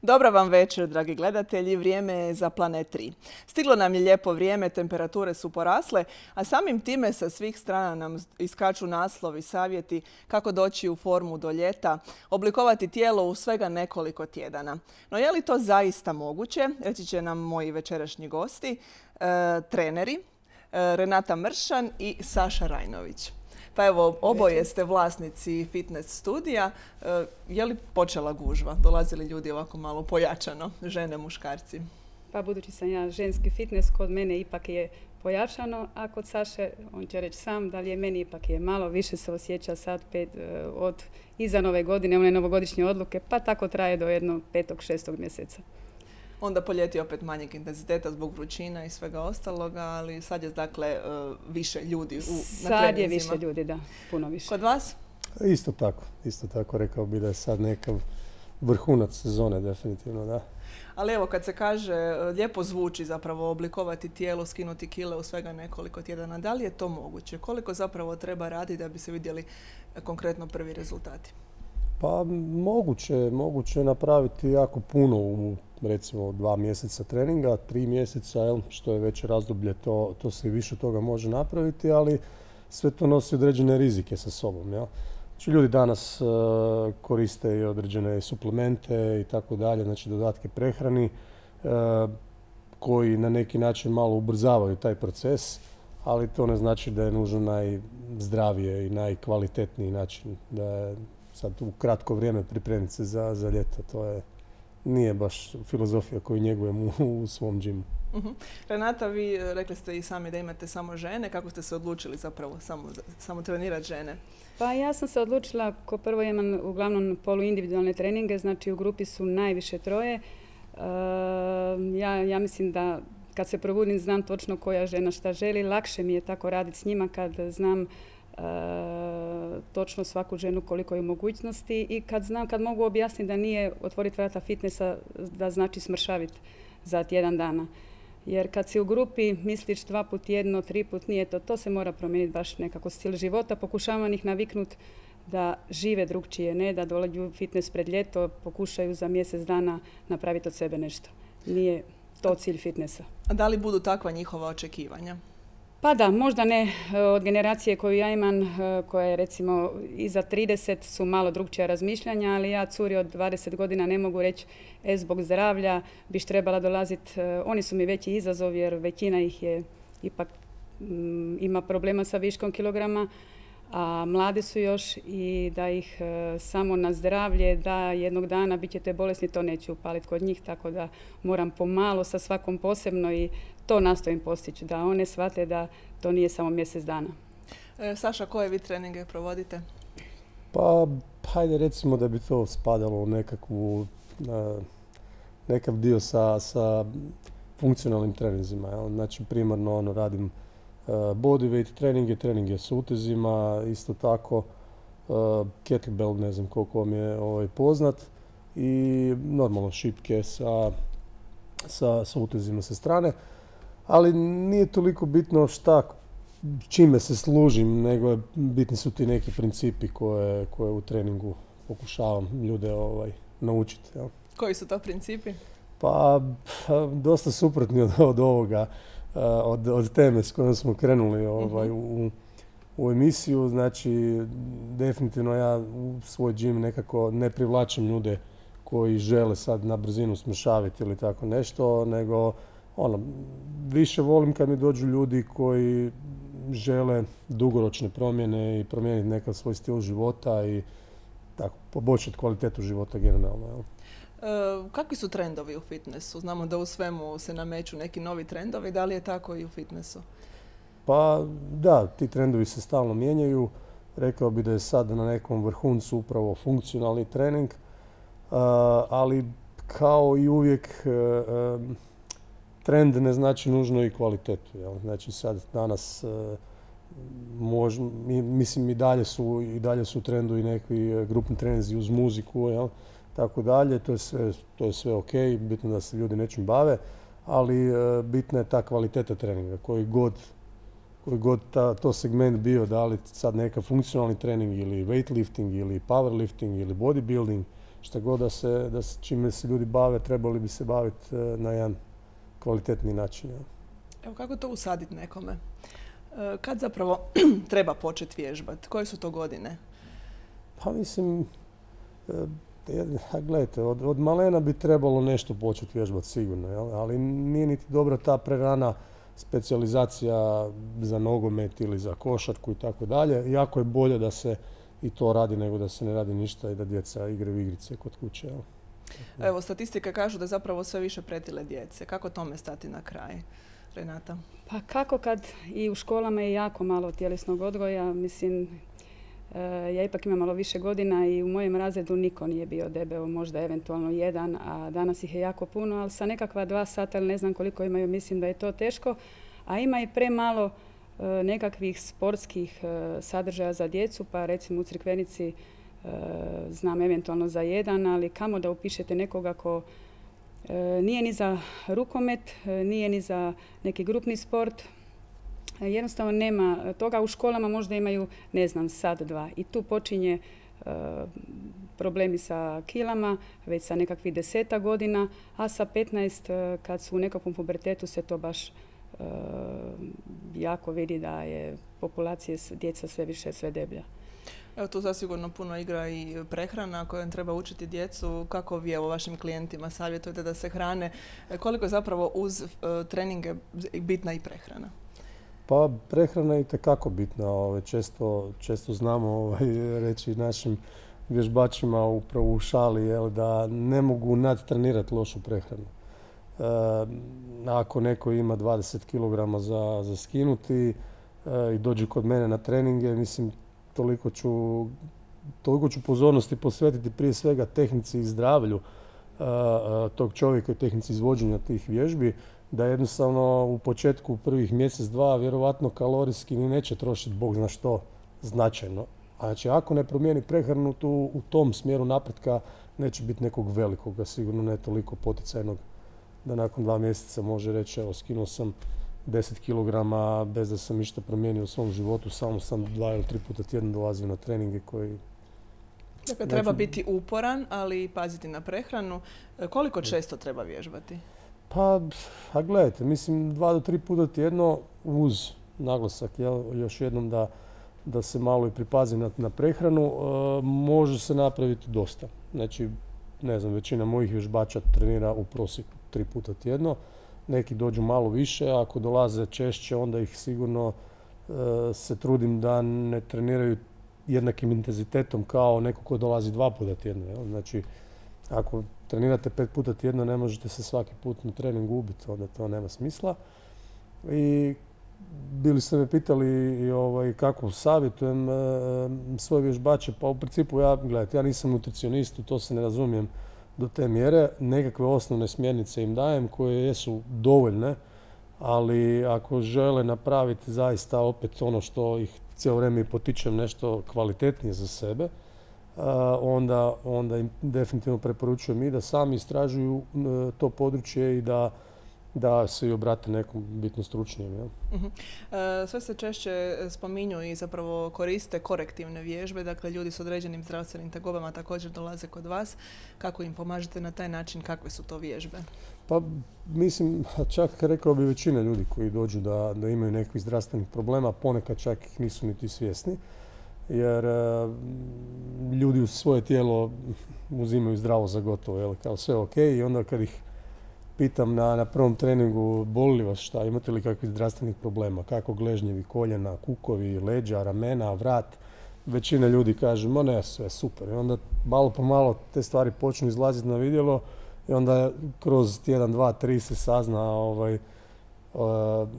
Dobra vam večer, dragi gledatelji. Vrijeme je za Planet 3. Stiglo nam je lijepo vrijeme, temperature su porasle, a samim time sa svih strana nam iskaču naslovi, savjeti kako doći u formu do ljeta, oblikovati tijelo u svega nekoliko tjedana. No je li to zaista moguće? Reći će nam moji večerašnji gosti, treneri Renata Mršan i Saša Rajnović. Pa evo, oboje ste vlasnici fitness studija. Je li počela gužva? Dolazili ljudi ovako malo pojačano, žene, muškarci? Pa budući sam ja ženski fitness, kod mene ipak je pojačano, a kod Saše, on će reći sam, da li je meni ipak je malo više se osjeća sad od iza nove godine, one novogodišnje odluke, pa tako traje do jednog 5. 6. mjeseca. Onda po ljeti opet manjeg intenziteta zbog vrućina i svega ostaloga, ali sad je dakle više ljudi na treninzima. Sad je više ljudi, da, puno više. Kod vas? Isto tako rekao bi da je sad nekav vrhunac sezone, definitivno, da. Ali evo, kad se kaže, lijepo zvuči zapravo oblikovati tijelo, skinuti kile u svega nekoliko tjedana. Da li je to moguće? Koliko zapravo treba raditi da bi se vidjeli konkretno prvi rezultati? Pa moguće je napraviti jako puno u recimo 2 mjeseca treninga, 3 mjeseca, što je već razdoblje, to se i više toga može napraviti, ali sve to nosi određene rizike sa sobom. Znači, ljudi danas koriste i određene suplemente i tako dalje, znači dodatke prehrani koji na neki način malo ubrzavaju taj proces, ali to ne znači da je nužno najzdravije i najkvalitetniji način da je sad u kratko vrijeme pripremiti se za ljeto. Nije baš filozofija koju njegujem u svom džimu. Renata, vi rekli ste i sami da imate samo žene. Kako ste se odlučili zapravo samo trenirati žene? Pa ja sam se odlučila, ko prvo imam uglavnom poluindividualne treninge, znači u grupi su najviše 3. Ja mislim da kad se probudim znam točno koja žena šta želi. Lakše mi je tako raditi s njima kad znam točno svaku ženu koliko je mogućnosti i kad mogu objasniti da nije otvoriti vrata fitnessa da znači smršaviti za tjedan dana. Jer kad si u grupi misliš 2 put tjedno, 3 put nije to se mora promijeniti baš nekako stil života. Pokušavam ih naviknuti da žive drugčije, ne da dođu u fitness pred ljeto, pokušaju za mjesec dana napraviti od sebe nešto. Nije to cilj fitnessa. A da li budu takva njihova očekivanja? Pa da, možda ne od generacije koju ja imam, koja je recimo iza 30 su malo drugčija razmišljanja, ali ja curi od 20 godina ne mogu reći zbog zdravlja biš trebala dolaziti. Oni su mi veći izazov jer većina ih je ipak ima problema sa viškom kilograma, a mladi su još i da ih samo na zdravlje, da jednog dana bit ćete bolesni, to neću upaliti kod njih, tako da moram pomalo sa svakom posebno i to nastojim postići, da one shvate da to nije samo mjesec dana. Saša, koje vi treninge provodite? Pa, hajde recimo da bi to spadalo u nekav dio sa funkcionalnim treninzima. Znači, primarno radim bodyweight treninge s utezima, isto tako kettlebell, ne znam koliko vam je poznat, i normalno šipke sa utezima sa strane. Ali nije toliko bitno čime se služim, nego bitni su ti neki principi koje u treningu pokušavam ljude naučiti. Koji su to principi? Pa, dosta suprotni od ovoga, od teme s kojom smo krenuli u emisiju. Znači, definitivno ja u svoj džim nekako ne privlačim ljude koji žele sad na brzinu smršaviti ili tako nešto, nego više volim kad mi dođu ljudi koji žele dugoročne promjene i promijeniti nekakav svoj stil života i tako poboljšati kvalitetu života generalno. Kakvi su trendovi u fitnessu? Znamo da u svemu se nameću neki novi trendovi. Da li je tako i u fitnessu? Pa da, ti trendovi se stalno mijenjaju. Rekao bi da je sad na nekom vrhuncu upravo funkcionalni trening, ali kao i uvijek trend ne znači nužno i kvalitetu. Znači sad danas mislim i dalje su u trendu i neki grupni treninzi uz muziku, tako dalje. To je sve ok, bitno da se ljudi nečim bave, ali bitna je ta kvaliteta treninga koji god to segment bio, da li sad neka funkcionalni trening ili weightlifting ili powerlifting ili bodybuilding, šta god čime se ljudi bave, trebali bi se baviti na jedan kvalitetni način. Ja. Evo, kako to usaditi nekome? Kad zapravo treba početi vježbati? Koje su to godine? Pa mislim, gledajte, od malena bi trebalo nešto početi vježbati sigurno, jel? Ali nije niti dobra ta prerana specijalizacija za nogomet ili za košarku i tako dalje. Jako je bolje da se i to radi nego da se ne radi ništa i da djeca igraju igrice kod kuće. Jel? Evo, statistike kažu da zapravo sve više pretile djece. Kako tome stati na kraj, Renata? Pa kako kad i u školama je jako malo tjelesnog odgoja, mislim, ja ipak imam malo više godina i u mojem razredu niko nije bio debeo, možda eventualno jedan, a danas ih je jako puno, ali sa nekakva 2 sata ili ne znam koliko imaju, mislim da je to teško, a ima i premalo nekakvih sportskih sadržaja za djecu, pa recimo u Crikvenici znam eventualno za jedan, ali kamo da upišete nekoga ko nije ni za rukomet, nije ni za neki grupni sport. Jednostavno nema toga. U školama možda imaju, ne znam, sat, 2. I tu počinje problemi sa kilama, već sa nekakvih 10 godina, a sa 15 kad su u nekakvom pubertetu se to baš jako vidi da je populacija djeca sve više, sve deblja. Evo, tu zasigurno puno igra i prehrana kojom treba učiti djecu. Kako vi evo vašim klijentima savjetujete da se hrane? Koliko je zapravo uz treninge bitna i prehrana? Pa prehrana je itekako bitna. Često znamo reći našim vježbačima upravo u šali da ne mogu nadtrenirati lošu prehranu. Ako neko ima 20 kg za skinuti i dođe kod mene na treninge, mislim, toliko ću pozornosti posvetiti prije svega tehnici i zdravlju tog čovjeka i tehnici izvođenja tih vježbi, da jednostavno u početku prvih mjesec, 2 vjerovatno kalorijski ni neće trošiti bog zna što značajno. A znači ako ne promijeni prehranu u tom smjeru napretka neće biti nekog velikog, a sigurno ne toliko poticajnog da nakon 2 mjeseca može reći evo skinuo sam 10 kg bez da sam ništa promijenio u svom životu, samo sam 2 ili 3 puta tjedno dolazio na treninge koji... Dakle, treba biti uporan, ali i paziti na prehranu. Koliko često treba vježbati? Pa, gledajte, mislim 2 do 3 puta tjedno uz naglasak, još jednom da se malo i pripazi na prehranu, može se napraviti dosta. Znači, ne znam, većina mojih vježbača trenira u prosjeku 3 puta tjedno. Neki dođu malo više, ako dolaze češće, onda ih sigurno se trudim da ne treniraju jednakim intenzitetom kao neko ko dolazi 2 puta tjedno. Jel? Znači, ako trenirate 5 puta tjedno, ne možete se svaki put na trening ubiti, onda to nema smisla. I bili ste me pitali kako savjetujem svoje vježbače, pa u principu ja nisam nutricionist, u to se ne razumijem do te mjere. Nekakve osnovne smjernice im dajem koje jesu dovoljne, ali ako žele napraviti zaista opet ono što ih cijelo vrijeme potičem nešto kvalitetnije za sebe, onda im definitivno preporučujem i da sami istražuju to područje i da se i obrate nekom bitno stručnijem. Ja. Sve se češće spominju i zapravo koriste korektivne vježbe, dakle ljudi s određenim zdravstvenim tegobama također dolaze kod vas. Kako im pomažete na taj način, kakve su to vježbe? Pa mislim, čak rekao bi većina ljudi koji dođu da imaju nekakvih zdravstvenih problema, ponekad čak ih nisu niti svjesni, jer ljudi u svoje tijelo uzimaju zdravo za gotovo, jel, kao sve ok, i onda kad ih pitam na prvom treningu boli li vas šta, imate li kakvih zdravstvenih problema, kako gležnjevi, koljena, kukovi, leđa, ramena, vrat, većina ljudi kaže, ma ne, sve super. I onda malo po malo te stvari počnu izlaziti na vidjelo i onda kroz tjedan, 2, 3 se sazna,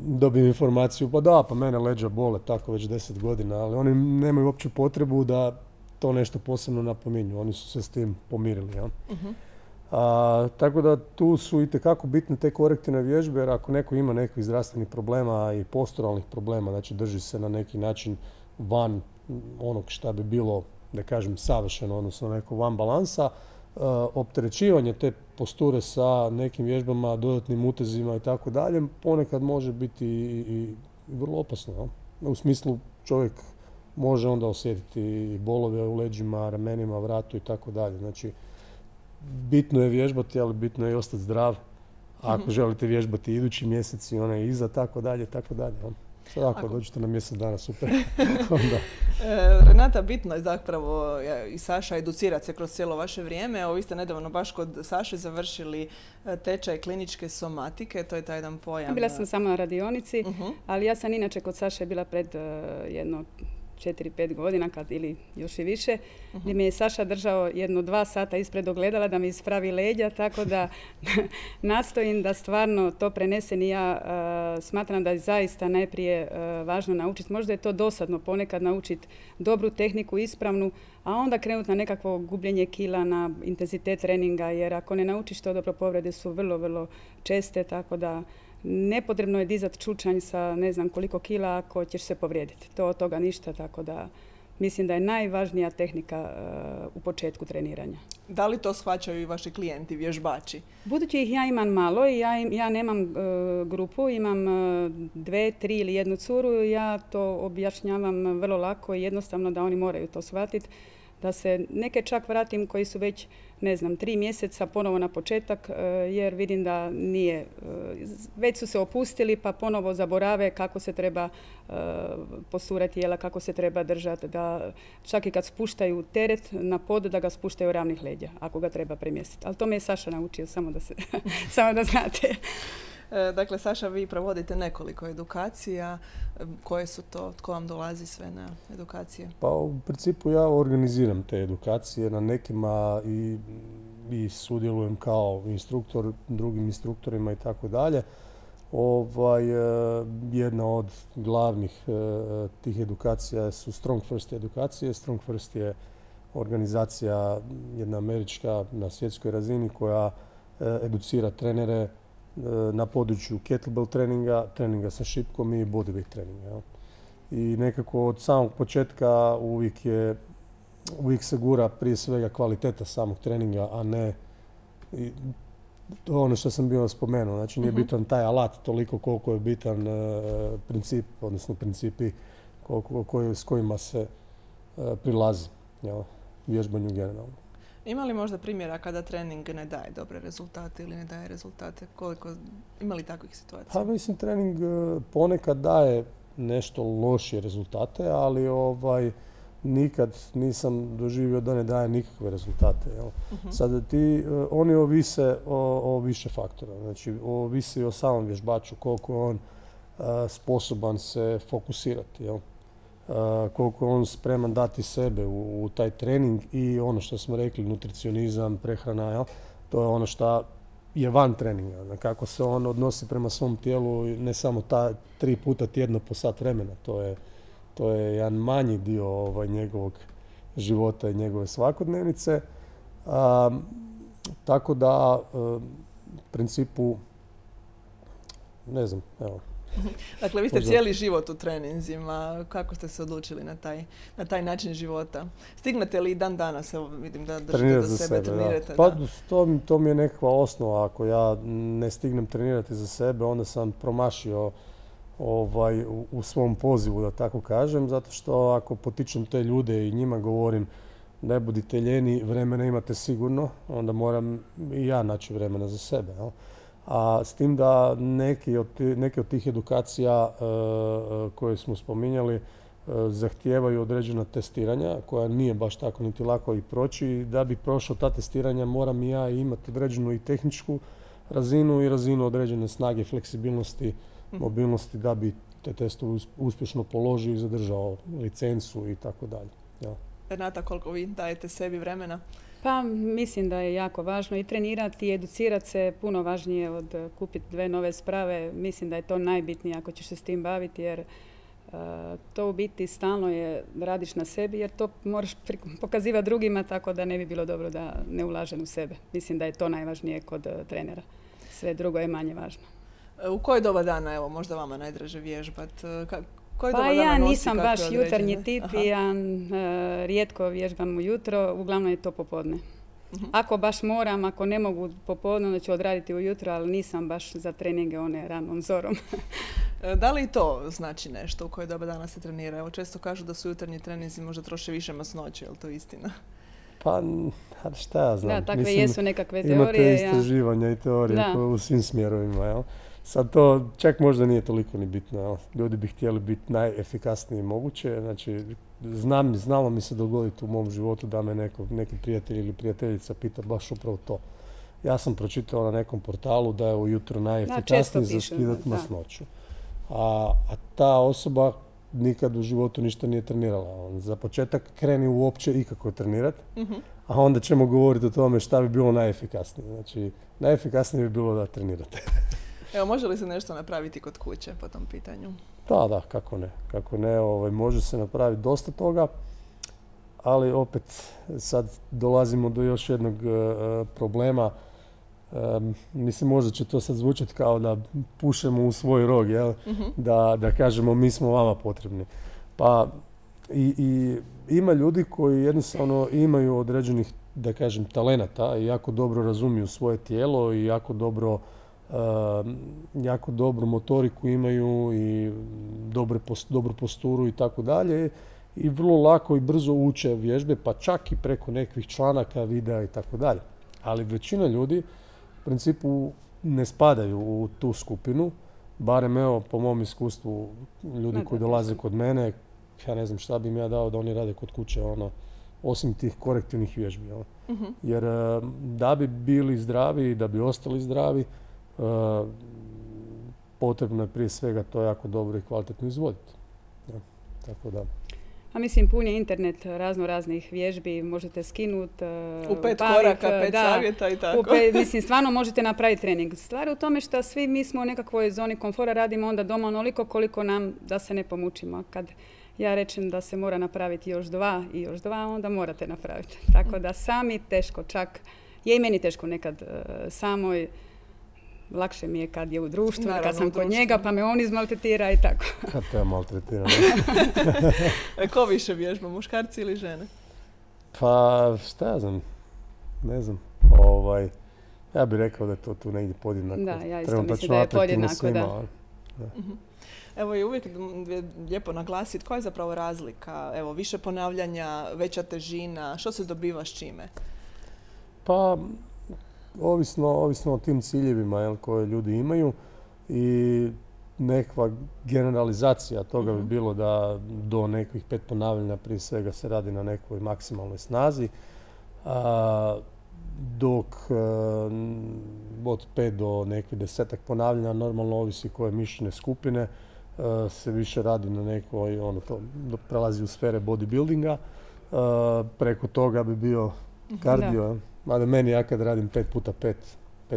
dobijem informaciju, pa mene leđa bole tako već 10 godina, ali oni nemaju uopće potrebu da to nešto posebno napominju, oni su se s tim pomirili. Ja? Tako da tu su itekako bitne te korektivne vježbe, jer ako neko ima nekih zdravstvenih problema i posturalnih problema, znači drži se na neki način van onog šta bi bilo, da kažem, savršeno, odnosno neko van balansa, opterećivanje te posture sa nekim vježbama, dodatnim utezima i tako dalje, ponekad može biti i vrlo opasno. Ja? U smislu čovjek može onda osjetiti i bolove u leđima, ramenima, vratu i tako dalje. Znači, bitno je vježbati, ali bitno je i ostati zdrav. Ako želite vježbati idući mjesec i onaj iza, tako dalje, tako dalje. Sad ako dođete na mjesec dana, super. Renata, bitno je zapravo i Saša educirati se kroz cijelo vaše vrijeme. Evo, vi ste nedavno baš kod Saše završili tečaj kliničke somatike, to je taj jedan pojam. Bila sam samo na radionici, ali ja sam inače kod Saše bila pred jedno 4-5 godina ili još i više, gdje mi je Saša držao 1-2 sata ispred ogledala da mi ispravi leđa, tako da nastojim da stvarno to prenesem i ja smatram da je zaista najprije važno naučiti. Možda je to dosadno ponekad naučiti dobru tehniku, ispravnu, a onda krenuti na nekakvo gubljenje kila, na intenzitet treninga, jer ako ne naučiš to dobro, povrede su vrlo, vrlo česte, tako da nepotrebno je dizati čučanj sa ne znam koliko kila ako ćeš se povrijediti. To od toga ništa, tako da mislim da je najvažnija tehnika u početku treniranja. Da li to shvaćaju i vaši klijenti, vježbači? Budući ih ja imam malo i ja nemam grupu, imam 2, 3 ili 1 curu, ja to objašnjavam vrlo lako i jednostavno da oni moraju to shvatiti. Da se neke čak vratim koji su već, 3 mjeseca ponovo na početak, jer vidim da nije, već su se opustili pa ponovo zaborave kako se treba posturati jela, kako se treba držati, da čak i kad spuštaju teret na pod, da ga spuštaju ravnih leđa, ako ga treba premjestiti. Ali to me je Saša naučio, samo da znate. Dakle, Saša, vi provodite nekoliko edukacija. Koje su to? Tko vam dolazi sve na edukacije? Pa u principu ja organiziram te edukacije. Na nekima i sudjelujem kao instruktor, drugim instruktorima i tako dalje. Jedna od glavnih tih edukacija su Strong First edukacije. Strong First je organizacija jedna američka na svjetskoj razini koja educira trenere na području kettlebell treninga sa šipkom i bodyweight treninga. I nekako od samog početka uvijek se gura prije svega kvaliteta samog treninga, a ne to ono što sam bio spomenuo. Znači nije bitan taj alat toliko koliko je bitan princip, odnosno principi s kojima se prilazi vježbanju generalno. Ima li možda primjera kada trening ne daje dobre rezultate ili ne daje rezultate? Ima li takvih situacija? Pa mislim, trening ponekad daje nešto lošije rezultate, ali nikad nisam doživio da ne daje nikakve rezultate. Sad oni ovise o više faktora. Znači, ovisi o samom vježbaču, koliko je on sposoban se fokusirati. Koliko je on spreman dati sebe u taj trening i ono što smo rekli, nutricionizam, prehrana, to je ono što je van treninga. Kako se on odnosi prema svom tijelu, ne samo 3 puta tjedno po sat vremena. To je jedan manji dio njegovog života i njegove svakodnevnice. Tako da, u principu, ne znam, evo. Dakle, vi ste cijeli život u treninzima. Kako ste se odlučili na taj način života? Stignete li dan danas? Evo, vidim da držite do sebe, trenirate. Pa to mi je nekakva osnova. Ako ja ne stignem trenirati za sebe, onda sam promašio u svom pozivu, da tako kažem, zato što ako potičem te ljude i njima govorim ne budite ljeni, vremena imate sigurno, onda moram i ja naći vremena za sebe. A s tim da neke od tih edukacija koje smo spominjali zahtijevaju određena testiranja koja nije baš tako niti lako i proći. Da bi prošao ta testiranja moram i ja imati određenu i tehničku razinu i razinu određene snage, fleksibilnosti, mobilnosti da bi te testove uspješno položio i zadržao licencu i tako dalje. Renata, koliko vi dajete sebi vremena? Pa mislim da je jako važno i trenirati i educirati se puno važnije od kupiti 2 nove sprave. Mislim da je to najbitnije ako ćeš se s tim baviti jer to u biti stalno je radiš na sebi jer to moraš pokazivati drugima tako da ne bi bilo dobro da ne ulažem u sebe. Mislim da je to najvažnije kod trenera. Sve drugo je manje važno. U koje doba dana, evo, možda vama najdraže vježbati? Pa ja nisam baš jutarnji tip i ja rijetko vježbam ujutro, uglavnom je to popodne. Ako baš moram, ako ne mogu popodne, onda ću odraditi ujutro, ali nisam baš za treninge one ranom zorom. Da li i to znači nešto u koje doba dana se trenira? Evo, često kažu da su jutarnji treninzi možda troše više masnoće, je li to istina? Pa, šta ja znam. Da, takve jesu nekakve teorije. Imate istraživanja i teorije u svim smjerovima, jel? Sad to čak možda nije toliko ni bitno, jel? Ljudi bi htjeli biti najefikasniji moguće, znači znalo mi se dogoditi u mom životu da me neki prijatelj ili prijateljica pita baš upravo to. Ja sam pročitao na nekom portalu da je ujutro najefikasniji za skidati masnoću. A ta osoba nikad u životu ništa nije trenirala. Za početak kreni uopće ikako trenirati, a onda ćemo govoriti o tome šta bi bilo najefikasnije. Znači, najefikasnije bi bilo da trenirate. Evo, može li se nešto napraviti kod kuće po tom pitanju? Da, kako ne. Kako ne, može se napraviti dosta toga, ali opet sad dolazimo do još jednog problema. Mislim, možda će to sad zvučati kao da pušemo u svoj rog, jel? Da kažemo mi smo vama potrebni. Pa i ima ljudi koji jednostavno imaju određenih, da kažem, talenata i jako dobro razumiju svoje tijelo i jako dobru motoriku imaju i dobru posturu i tako dalje. I vrlo lako i brzo uče vježbe, pa čak i preko nekih članaka, videa i tako dalje. Ali većina ljudi u principu ne spadaju u tu skupinu, barem evo po mom iskustvu ljudi koji dolaze kod mene, ja ne znam šta bi im ja dao da oni rade kod kuće, osim tih korektivnih vježbi. Jer da bi bili zdravi i da bi ostali zdravi, potrebno je prije svega to jako dobro i kvalitetno izvoditi. Tako da. A mislim, pun je internet raznih vježbi, možete skinuti, u 5 koraka, 5 savjeta i tako. Mislim, stvarno možete napraviti trening. Stvar je u tome što svi mi smo u nekakvoj zoni komfora, radimo onda doma onoliko koliko nam da se ne pomučimo. Kad ja rečem da se mora napraviti još 2 i još 2, onda morate napraviti. Tako da sami teško, čak je i meni teško nekad samoj. Lakše mi je kad je u društvu, naravno, kad sam kod njega, pa me on izmaltretira i tako. Kad te ja maltretiram? Ko više vježba, muškarci ili žene? Pa, šta ja znam, ne znam. Ja bih rekao da je to tu negdje podjednako. Da, ja isto mislim da je podjednako, da. Evo, i uvijek lijepo naglasiti koja je zapravo razlika. Evo, više ponavljanja, veća težina, što se dobiva s čime? Pa, ovisno o tim ciljevima koje ljudi imaju i nekakva generalizacija toga bi bilo da do nekih 5 ponavljanja prije svega se radi na nekoj maksimalnoj snazi, dok od 5 do nekih 10 ponavljanja, normalno ovisi koje mišićne skupine, se više radi na nekoj, to prelazi u sfere bodybuildinga, preko toga bi bio kardio. Mada meni, ja kad radim 5x5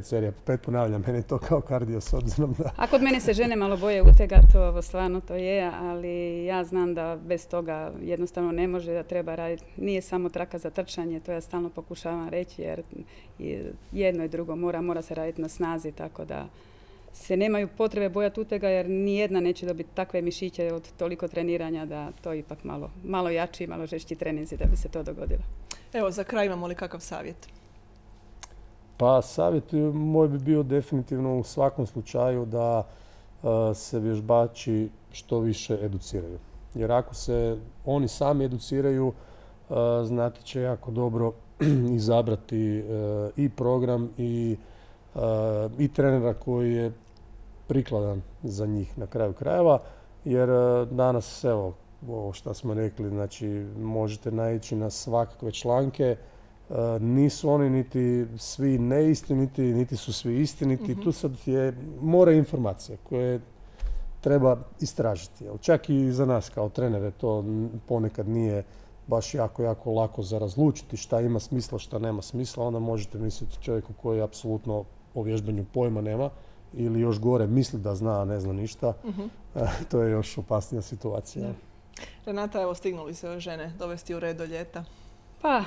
serija, 5 ponavljam, meni je to kao kardio s obzirom da. A kod mene se žene malo boje utega, to stvarno to je, ali ja znam da bez toga jednostavno ne može, da treba raditi. Nije samo traka za trčanje, to ja stalno pokušavam reći, jer jedno i drugo mora se raditi na snazi, tako da se nemaju potrebe bojati utega, jer nijedna neće dobiti takve mišiće od toliko treniranja da to ipak malo jači, malo žešći treninzi da bi se to dogodilo. Evo, za kraj imamo li kakav savjet? Pa savjet moj bi bio definitivno u svakom slučaju da se vježbači što više educiraju. Jer ako se oni sami educiraju, znati će jako dobro izabrati i program i trenera koji je prikladan za njih na kraju krajeva. Jer danas, evo, ovo što smo rekli, znači možete naići na svakakve članke. Nisu oni niti svi neistiniti, niti su svi istiniti. Tu sad mora informacija koje treba istražiti. Čak i za nas kao trenere to ponekad nije baš jako lako za razlučiti šta ima smisla, šta nema smisla. Onda možete misliti čovjeku koji apsolutno o vježbanju pojma nema ili još gore misli da zna, a ne zna ništa. To je još opasnija situacija. Da. Renata, evo, stignuli se žene dovesti u red do ljeta? Pa,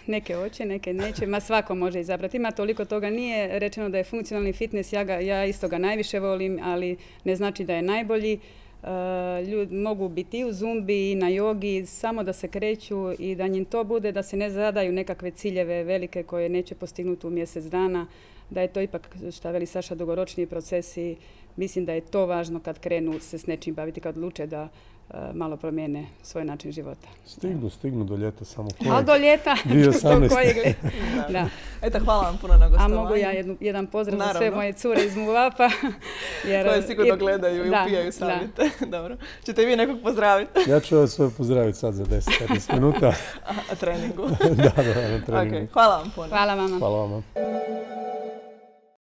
neke hoće, neke neće. Svako može izabrati. Ima toliko toga. Nije rečeno da je funkcionalni fitness. Ja isto ga najviše volim, ali ne znači da je najbolji. Ljudi mogu biti i u zumbi i na jogi, samo da se kreću i da njim to bude, da se ne zadaju nekakve ciljeve velike koje neće postignuti u mjesec dana. Da je to ipak, šta veli Saša, dugoročniji procesi. Mislim da je to važno kad krenu se s nečim baviti, kad odluče da malo promijene svoj način života. Stignu do ljeta samo A do ljeta? 2018. Da. Eto, hvala vam puno na gostovanju. A mogu ja jedan pozdrav za sve moje cure iz Muvapa. Koje sigurno gledaju i upijaju savjete. Dobro. Ćete i vi nekog pozdraviti? Ja ću ovo sve pozdraviti sad za 10-15 minuta. A treningu? Da, na treningu. Okay. Hvala vam puno. Hvala vama. Hvala vama.